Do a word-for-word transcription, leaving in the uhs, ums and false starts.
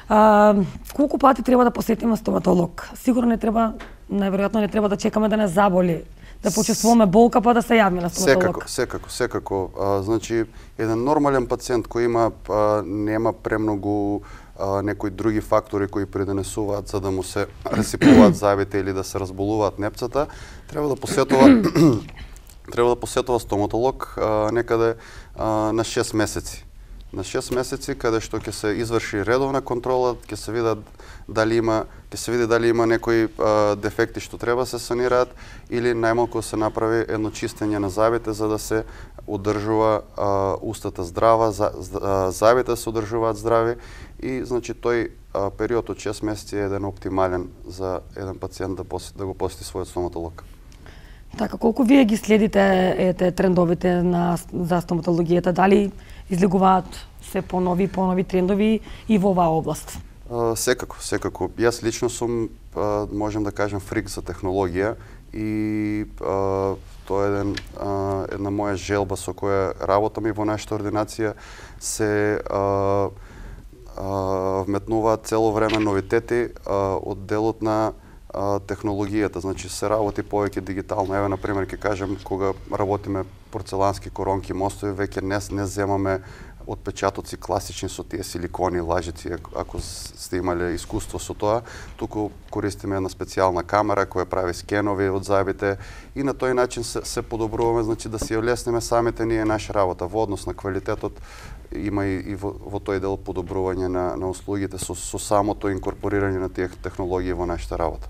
А, колку пати треба да посетиме стоматолог? Сигурно не треба, најверојатно не треба да чекаме да не заболи, да почувствуваме болка па да се јавиме на стоматолог. Секако, секако, секако. А, значи, еден нормален пациент кој има а, нема премногу а, некои други фактори кои придонесуваат за да му се расипуваат зъбите или да се разболуваат непцата, треба да посетува треба да посетува стоматолог а, некаде а, на шест месеци. На шест месеци каде што ќе се изврши редовна контрола, ќе се видат дали има, ќе се види дали има некои а, дефекти што треба се санираат или најмалку се направи едно чистење на зъбите за да се одржува а, устата здрава, за, а, зъбите се одржуваат здрави и значи тој а, период од шест месеци е еден оптимален за еден пациент да, посети, да го посети својот стоматолог. Така, колку вие ги следите ете трендовите на за стоматологијата, дали излегуваат се понови понови трендови и во оваа област? Uh, секако, секако. Јас лично сум, uh, можем да кажем, фрик за технологија и uh, тоа е еден, uh, една моја желба со која работам и во нашата ординација се uh, uh, вметнуваат цело време новитети uh, од делот на uh, технологијата, значи се работи повеќе дигитално. Еве, например, ќе кажем, кога работиме порцелански коронки, мостови, веќе не, не земаме отпечатоци класични со тие силикони, лажици, ако сте имале искуство со тоа, туку користиме една специјална камера која прави скенови од зъбите и на тој начин се, се подобруваме, значи да си ја лесниме самите ние наша работа. Во однос на квалитетот има и, и во, во тој дел подобрување на, на услугите со, со самото инкорпорирање на тие технологии во нашата работа.